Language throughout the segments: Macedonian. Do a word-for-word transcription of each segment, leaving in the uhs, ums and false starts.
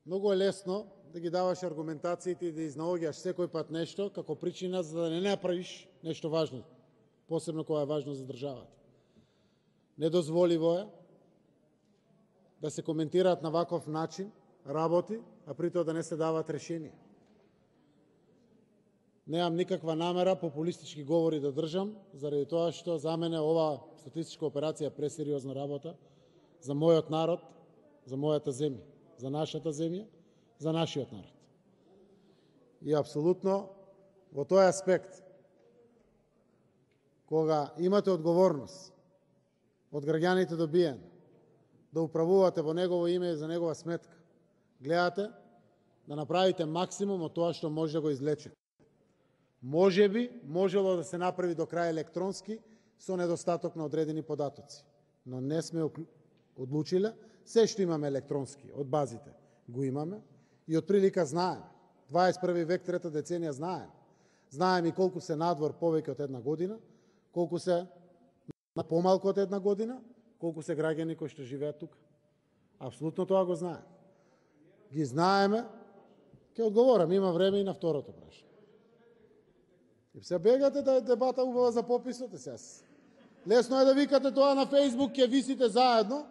многу е лесно да ги даваш аргументациите и да изнаоѓаш секој пат нешто како причина за да не направиш нешто важно, посебно кога е важно за државата. Недозволиво е да се коментираат на ваков начин работи, а при тоа да не се дават решенија. Немам никаква намера популистички говори да држам, заради тоа што за мене ова статистичка операција е пресериозна работа за мојот народ, за мојата земја, за нашата земја, за нашиот народ. И апсолутно во тој аспект, кога имате одговорност од граѓаните добиен да управувате во негово име и за негова сметка, гледате да направите максимум од тоа што може да го излечите. Може би, можело да се направи до крај електронски со недостаток на одредени податоци, но не сме одлучиле. Се што имаме електронски од базите го имаме и од прилика знаеме. дваесет и први век, трета деценија знаеме. Знаеме и колку се надвор повеќе од една година, колку се помалку од една година, колку се граѓани кои што живеат тука. Апсолутно тоа го знаеме. Ги знаеме, ќе одговорам, има време и на второто прашање. И се бегате да е дебата убава за пописот, сега. Лесно е да викате тоа на Фејсбук, ќе висите заедно,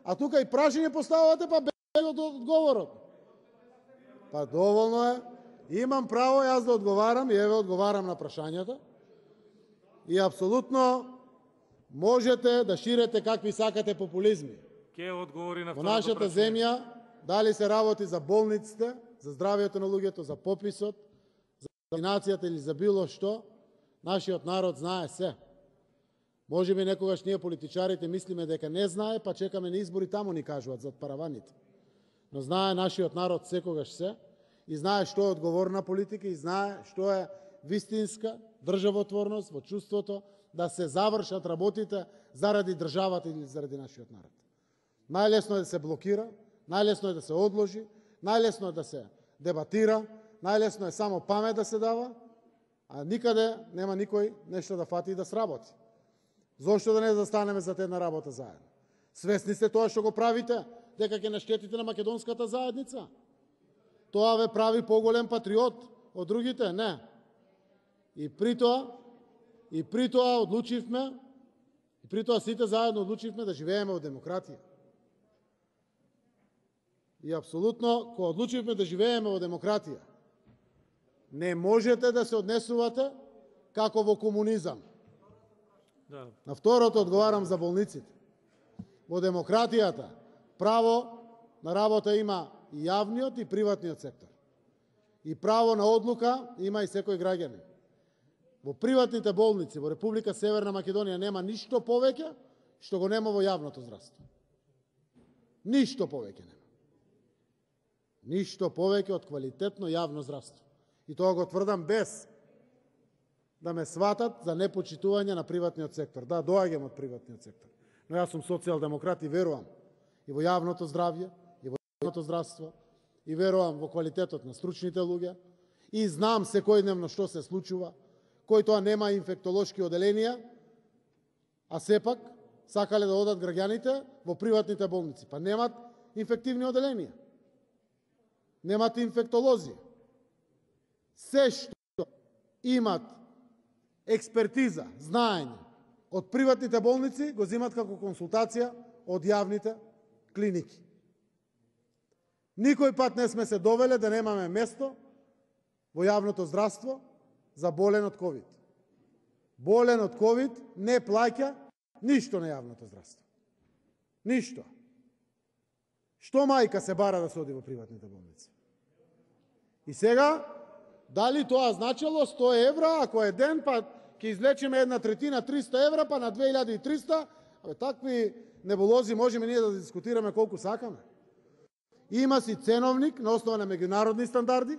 а тука и прашање поставувате, па бегате од одговорот. Па доволно е. Имам право јас да одговарам и еве одговарам на прашањата. И апсолутно можете да ширите какви сакате популизми. Ке одговори на Во второто нашата прашање. земја, дали се работи за болниците, за здравието на луѓето, за пописот, за вакцинацијата или за било што, нашиот народ знае се. Може би некогаш ние политичарите мислиме дека не знае, па чекаме на избори, таму ни кажуваат зад параваните. Но знае нашиот народ секогаш се и знае што е одговорна политика и знае што е вистинска државотворност во чувството да се завршат работите заради државата или заради нашиот народ. Најлесно е да се блокира, најлесно е да се одложи, најлесно е да се дебатира, најлесно е само памет да се дава, а никаде нема никој нешто да фати и да сработи. Зошто да не застанеме за една работа заедно? Свесни сте тоа што го правите, дека ќе наштетите на македонската заедница? Тоа ве прави поголем патриот од другите? Не. И при тоа, и при тоа одлучивме, и при тоа сите заедно одлучивме да живееме во демократија. И апсолутно, кога одлучивме да живееме во демократија, не можете да се однесувате како во комунизам. Да. На второто одговарам за болниците. Во демократијата право на работа има и јавниот и приватниот сектор. И право на одлука има и секој граѓанин. Во приватните болници во Република Северна Македонија нема ништо повеќе што го нема во јавното здравство. Ништо повеќе нема. Ништо повеќе од квалитетно јавно здравство. И тоа го тврдам без да ме сватат за непочитување на приватниот сектор. Да, доаѓам од приватниот сектор. Но јас сум социјалдемократ и верувам и во јавното здравје, и во јавното здравство, и верувам во квалитетот на стручните луѓе, и знам секојдневно што се случува, кој тоа нема инфектолошки оделенија, а сепак сакале да одат граѓаните во приватните болници. Па немат инфективни оделенија. Немат инфектолози. Се што имат експертиза, знаење од приватните болници го земат како консултација од јавните клиники. Никој пат не сме се довеле да немаме место во јавното здравство за болен од ковид. Болен од ковид не плаќа ништо на јавното здравство. Ништо. Што мајка се бара да се оди во приватните болници? И сега, дали тоа значило сто евра, ако е ден, па ќе излечеме една третина, триста евра, па на две илјади и триста, абе, такви небулози можеме ние да дискутираме колку сакаме. Има си ценовник на основа на меѓународни стандарди,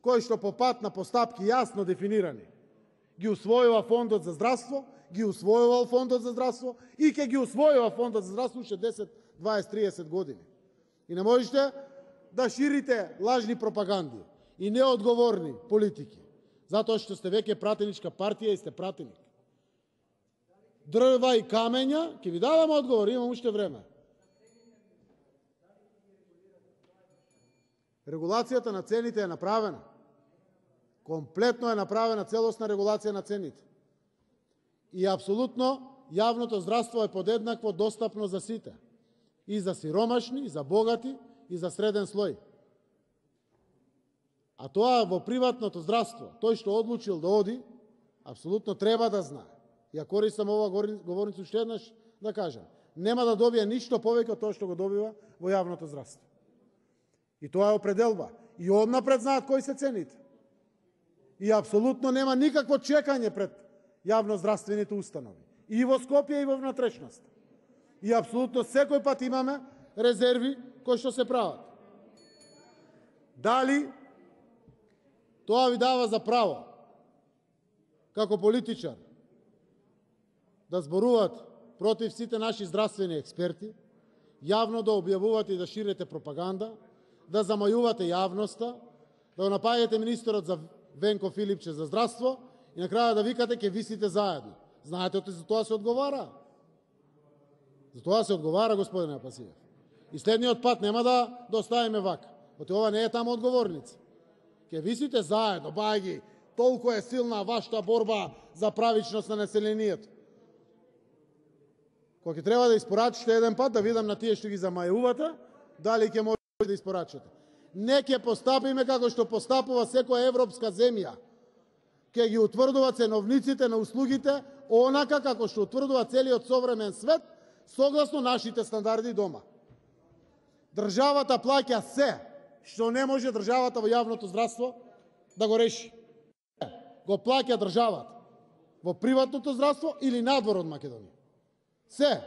кој што по пат на постапки јасно дефинирани ги усвојува Фондот за здравство, ги усвојувал Фондот за здравство и ќе ги усвојува Фондот за здравство уште десет, дваесет, триесет години. И не можете да ширите лажни пропаганди и неодговорни политики, затоа што сте веќе пратеничка партија и сте пратеник. Дрва и камења, ќе ви дадам одговор, имам уште време. Регулацијата на цените е направена. Комплетно е направена целосна регулација на цените. И апсолутно јавното здравство е подеднакво достапно за сите. И за сиромашни, и за богати, и за среден слој. А тоа во приватното здравство, тој што одлучил да оди, апсолутно треба да знае. Ја користам ова говорница уште еднаш да кажам. Нема да добие ништо повеќе од тоа што го добива во јавното здравство. И тоа е определба. И однапред знаат кои се цените. И апсолутно нема никакво чекање пред јавноздравствените установи. И во Скопје, и во внатрешност. И апсолутно секој пат имаме резерви кои што се прават. Дали тоа ви дава за право, како политичар, да зборуват против сите наши здравствени експерти, јавно да објавувате и да ширите пропаганда, да замајувате јавноста, да го напаѓате министерот за Венко Филипче за здравство и на краја да викате ќе висите заедно. Знаете, за тоа се одговара. За тоа се одговара, господине Апасиев. И следниот пат нема да доставиме вака. Оти ова не е тамо одговорница. Ќе висите заедно, бајги, толку е силна вашата борба за правичност на населението. Кога ќе треба да испорачите еден пат, да видам на тие што ги замајувате, дали ќе можете да испорачите. Не ќе постапиме како што постапува секоја европска земја. Ќе ги утврдува ценовниците на услугите онака како што утврдува целиот современ свет, согласно нашите стандарди дома. Државата плаќа се што не може државата во јавното здравство да го реши. Го плаќа државата во приватното здравство или надвор од Македонија. Се,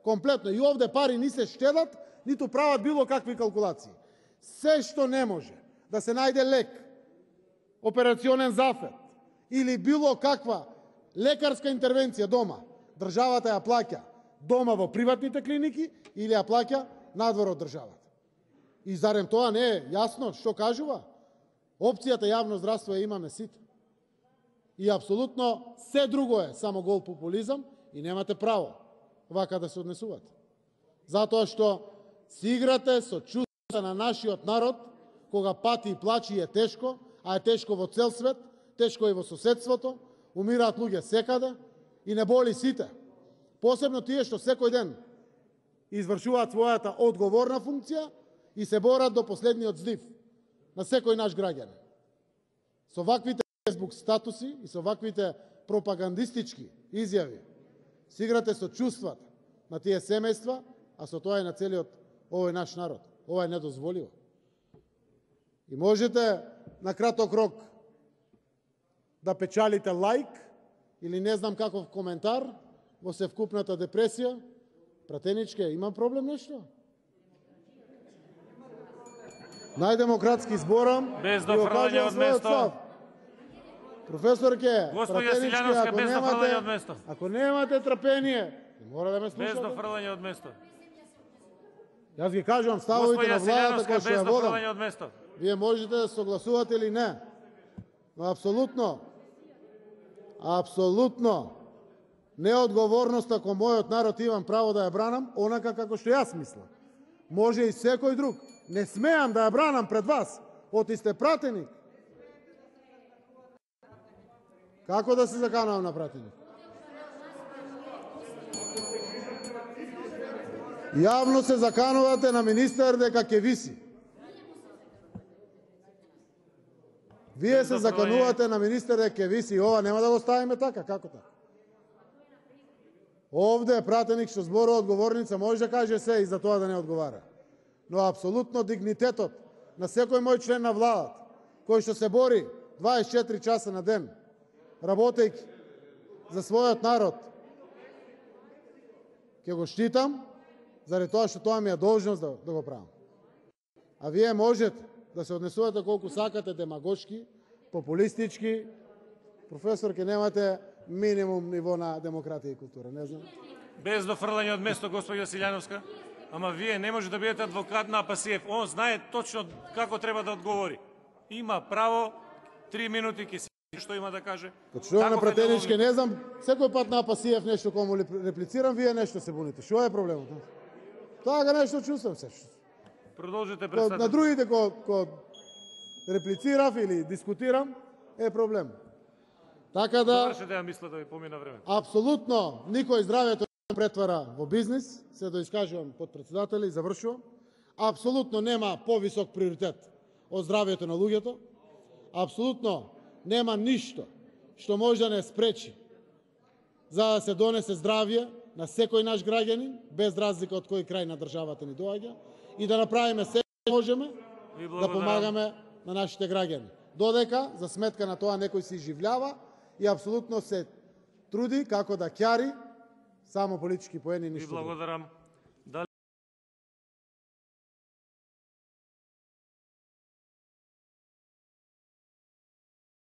комплетно. И овде пари ни се штедат, ниту прават било какви калкулации. Се што не може да се најде лек, операционен зафет или било каква лекарска интервенција дома, државата ја плаќа дома во приватните клиники или ја плаќа надвор од државата. И зарем тоа не е јасно што кажува? Опцијата јавно здравство ја имаме сите. И апсолутно се друго е само гол популизам и немате право вака да се однесувате. Затоа што си играте со чувствата на нашиот народ, кога пати и плачи е тешко, а е тешко во цел свет, тешко и во соседството, умираат луѓе секаде и не боли сите. Посебно тие што секој ден извршуваат својата одговорна функција и се борат до последниот здив на секој наш граѓанин. Со ваквите фейсбук статуси и со ваквите пропагандистички изјави си играте со чувствата на тие семејства, а со тоа и на целиот овој наш народ. Ова е недозволиво. И можете на краток рок да печалите лајк или не знам каков коментар во севкупната депресија. Пратеничке, има проблем нешто? Најдемократски зборам. Без дофрлање од место. Професорке, Господја Силјановска, без дофрлање од место. Ако немате трпение, мора да ме слушате. Без дофрлање од место. Јас ги кажувам ставовите на владата која што ја водам. Без дофрлање од место. Вие можете да согласувате или не. Но апсолутно, апсолутно неодговорноста кон мојот народ имам право да ја бранам онака како што јас мислам. Може и секој друг. Не смеам да ја бранам пред вас. Оти сте пратеник. Како да се заканувам на пратеник? Јавно се заканувате на министер дека ќе виси. Вие се заканувате на министер дека ќе виси. Ова нема да го ставиме така. Како така? Овде е пратеник што зборува одговорница, може да каже се и за тоа да не одговара. Но апсолутно дигнитетот на секој мој член на владата, кој што се бори дваесет и четири часа на ден, работејќи за својот народ, ќе го штитам, заради тоа што тоа ми е должност да, да го правам. А вие можете да се однесувате колку сакате демагошки, популистички. Професор, ке немате минимум ниво на демократија и култура, не знам. Без дофрлање од место, господја Силјановска. Ама вие не може да бидете адвокат на Апасиев. Он знае точно како треба да одговори. Има право, три минути ќе си што има да каже. Што на пратеничке, не знам, секој пат на Апасиев нешто кому реплицирам, вие нешто се буните. Што е проблемот? Така нешто чувствам се. Продолжете На председател. другите ко, ко реплицирав или дискутирам е проблем. Така да Завршете, ја мисля да ви помина време. апсолутно никој здравјето не претвара во бизнис, се да искажувам подпредседатели и завршувам. Апсолутно нема повисок приоритет од здравјето на луѓето. Апсолутно нема ништо што може да не спречи за да се донесе здравје на секој наш граѓанин, без разлика од кој крај на државата ни доаѓа, и да направиме се што можеме Ви да благодарам. помагаме на нашите граѓани. Додека, за сметка на тоа, некој се изживljava и апсолутно се труди како да ќари само политички поени, Ви ништо друго. благодарам.